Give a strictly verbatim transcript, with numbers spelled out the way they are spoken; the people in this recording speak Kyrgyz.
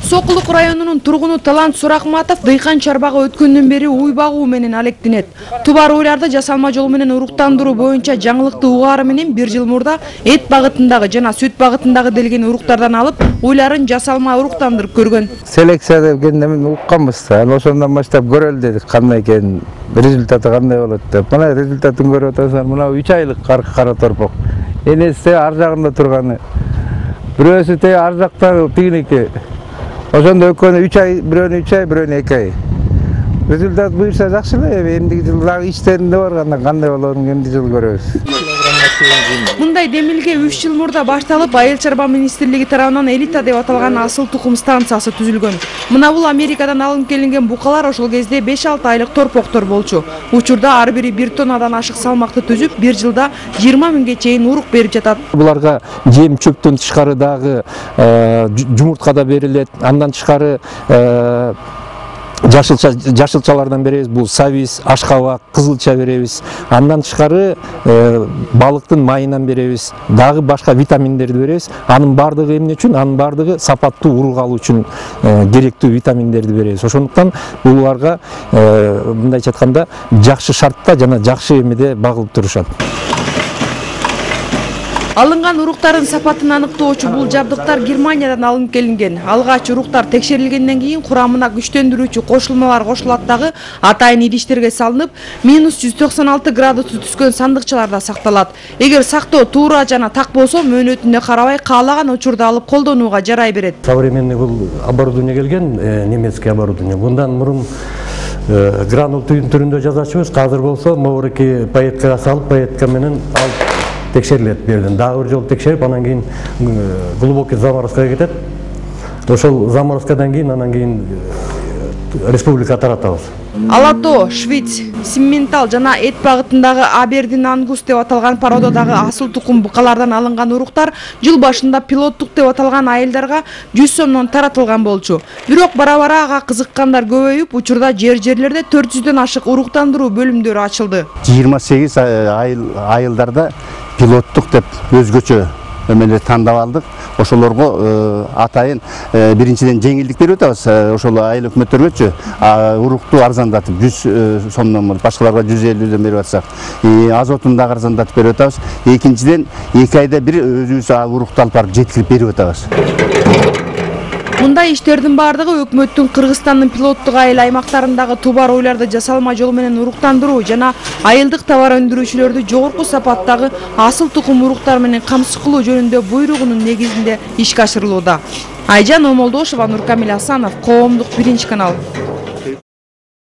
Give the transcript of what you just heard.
Сокулук районунун тургуну Талант Суракматов дыйкан чарбага өткөндөн бери уй багуу менен алектенет. Тубар уйларды жасалма жол менен уруктандыруу боюнча жаңылыкты угаары менен бир жыл мурда эт багытындагы жана сүт багытындагы делген уруктардан алып, уйларын жасалма уруктандырып көргөн. Селекция деген немен укканбыз. Анан ошондон баштап көрөлү дедик, кандай экен, результаты кандай болот деп. Мына результатын көрүп атасыздар. Мына үч айлык кара торпок. Энеси ар жагында турганы. Бирөөсү те ар жактагы тигиники. Ошондо экөөнү үч ай, бирөөнү үч ай, бирөөнү эки ай. Результат буюрса жакшы эле. Эмдиги жыл дагы иштеринде барганда кандай болоорун эмди жыл көрөбүз. Мындай демилге үч жыл мурда башталып, Айыл чарба министрлиги тарабынан элита деп аталган асыл тукум станциясы түзүлгөн. Мына бул Америкадан алынып келинген букалар ошол кезде беш алты айлык торпоктор болчу. Учурда ар бири бир тоннадан ашык салмакты түзүп, бир жылда жыйырма миңге чейин урук берип жатат. Буларга жем чөптөн тышкары дагы жумуртка да берилет. Андан тышкары жашылча жашылчалардан беребиз. Бул сабиз, ашкабак, кызылча беребиз. Андан тышкары балыктын майынан беребиз. Дагы башка витаминдерди беребиз. Анын бардыгы эмне үчүн? Анын бардыгы сапаттуу урук алуу үчүн керектүү витаминдерди беребиз. Ошондуктан буларга мындайча айтканда жакшы шартта жана жакшы эмеде багылып турушат. Алынган уруктардын сапатын аныктоочу бул жабдыктар Германиядан алынып келинген. Алгач уруктар текшерилгенден кийин курамына күчтөндүрүүчү кошулмалар кошулат дагы атайын идиштерге салынып, минус жүз токсон алты градусу түскөн сандыкчаларда сакталат. Эгер сактоо туура жана так болсо, мөөнөтүнө карабай каалаган учурда алып колдонууга жарай берет. Современный бул оборудование келген, немецкий оборудование. Bundan мурун гранул түрүндө жасачубуз. Азыр болсо могуреки паеткага салып, паетка менен алып текшерилет берден. Дагы бир жолу текшерип, анан кийин глубокий заморозкага кетет. Ошол заморозкадан кийин анан кийин республика таратабыз. Алато, Швиц, Симментал жана эт багытындагы Абердин Ангус деп аталган породадагы асыл тукум букалардан алынган уруктар жыл башында пилоттук деп аталган айылдарга жүз сомдон таратылган болчу. Бирок бара-бара ага кызыккандар көбөйүп, учурда жер-жерлерде төрт жүздөн ашык уруктандыруу бөлүмдөрү ачылды. жыйырма сегиз айыл айылдарда пилоттук деп өзгөчө эмелер тандап алдык. Ошолорго атайын биринчиден жеңилдик берип атабыз. Ошол айыл өкмөттөргөчү урукту арзандатып жүз сомдон башкаларга жүз элүүдөн берип атсак, азотун дагы арзандатып берип атабыз. Экинчиден эки айда бир өзүбүз урукту алып барып жеткирип берип атабыз. Мындай иштердин бардыгы өкмөттүн Кыргызстандын пилоттук айыл аймактарындагы тубар уйларды жасалма жол менен уруктандыруу жана айылдык товар өндүрүүчүлөрдү жогорку сапаттагы асыл тукум уруктар менен камсыз кылуу жөнүндө буйругунун негизинде ишке ашырылууда. Айжан Омолдошова, Нуркамил Асанов, Коомдук биринчи канал.